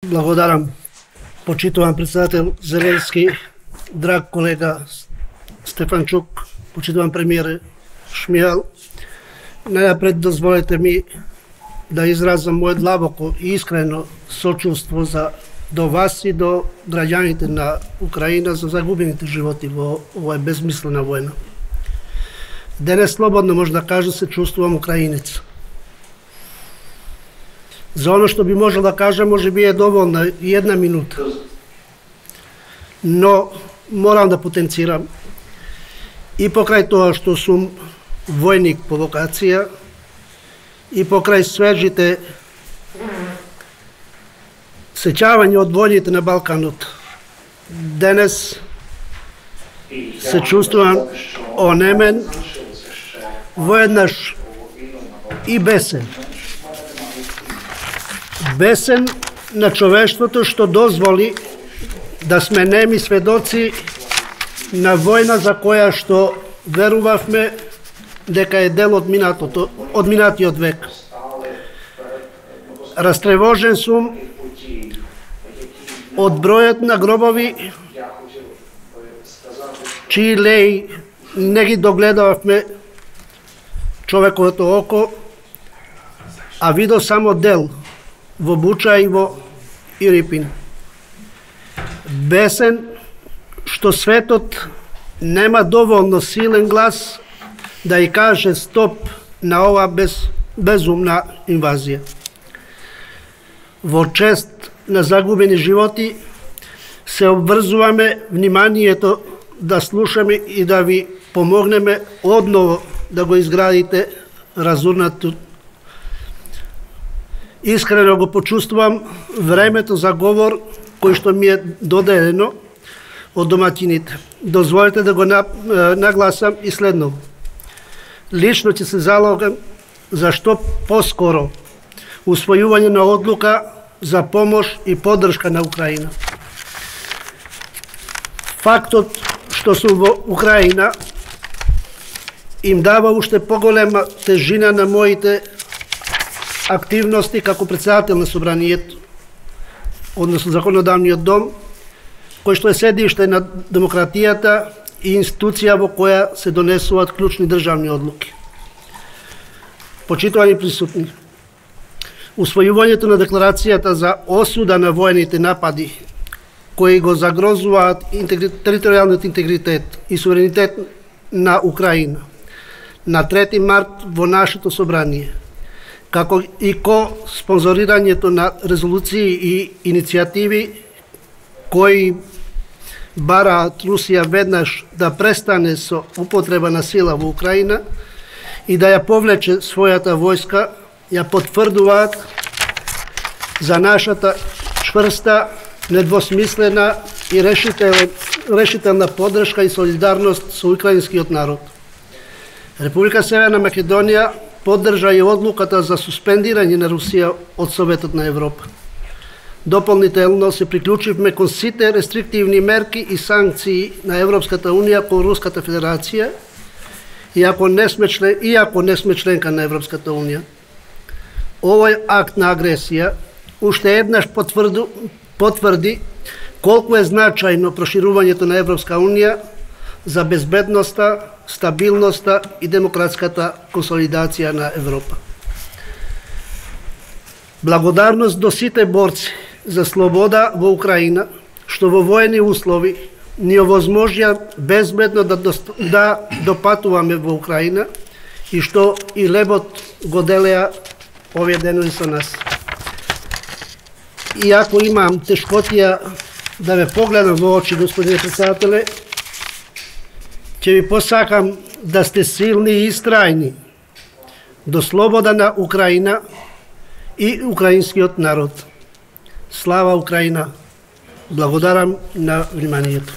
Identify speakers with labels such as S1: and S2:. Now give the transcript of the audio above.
S1: Благодарам, почитуван председател Зеленски, драг колега Стефанчук, почитуван премиер Шмијал. Најапред дозволете ми да изразам мое длабоко и искрено сочувство до вас и до граѓаните на Украина за загубените животи во оваа безмислена војна. Денес слободно може да кажа се чувствувам украинец. За оно што би можел да кажам, може би е доволна и една минута. Но морам да потенцирам и покрај тоа што сум војник по вокација и покрај свежите сеќавања од војните на Балканот. Денес се чувствувам онемен, воеднаш и бесен. Бесен на човештвото што дозволи да сме неми сведоци на војна за која што верувавме дека е дел од минатиот век. Растревожен сум од бројот на гробови чии леи не ги догледавме човековото око, а видов само дел во Буча и во Ирипин. Бесен што светот нема доволно силен глас да ја каже стоп на ова безумна инвазија. Во чест на загубени животи се обврзуваме вниманието да слушаме и да ви помогнеме одново да го изградите разурнатото. Искрено го почувствувам времето за говор кој што ми е доделено од домаќините. Дозволете да го нагласам и следно. Лично ќе се залогам за што поскоро усвојување на одлука за помош и поддршка на Украина. Фактот што сум во Украина им дава уште поголема тежина на моите активности како председател на Собранието, односно Законодавниот дом, кој што е седиште на демократијата и институција во која се донесуваат клучни државни одлуки. Почитувани присутни, усвојувањето на декларацијата за осуда на воените напади кои го загрозуваат територијалниот интегритет и суверенитет на Украина на 3 март во нашето собрание, како и спонзорирањето на резолуции и иницијативи кои бараат Русија веднаш да престане со употреба на сила во Украина и да ја повлече својата војска, ја потврдуваат за нашата чврста, недвосмислена и решителна поддршка и солидарност со украинскиот народ. Република Северна Македонија поддржа и одлуката за суспендирање на Русија од Советот на Европа. Дополнително се приклучивме кон сите рестриктивни мерки и санкции на Европската Унија кон Руската Федерација, иако не сме членка на Европската Унија. Овој акт на агресија уште еднаш потврди колку е значајно проширувањето на Европска Унија за безбедноста, стабилноста и демократската консолидација на Европа. Благодарност до сите борци за слобода во Украина, што во воени услови ни овозможија безбедно да допатуваме во Украина и што и лебот го делеа овие денови со нас. Иако имам тешкотија да ме погледам во очи, господине председателе, ќе ви посакам да сте силни и истрајни до слобода на Украина и украинскиот народ. Слава Украина! Благодарам на вниманието.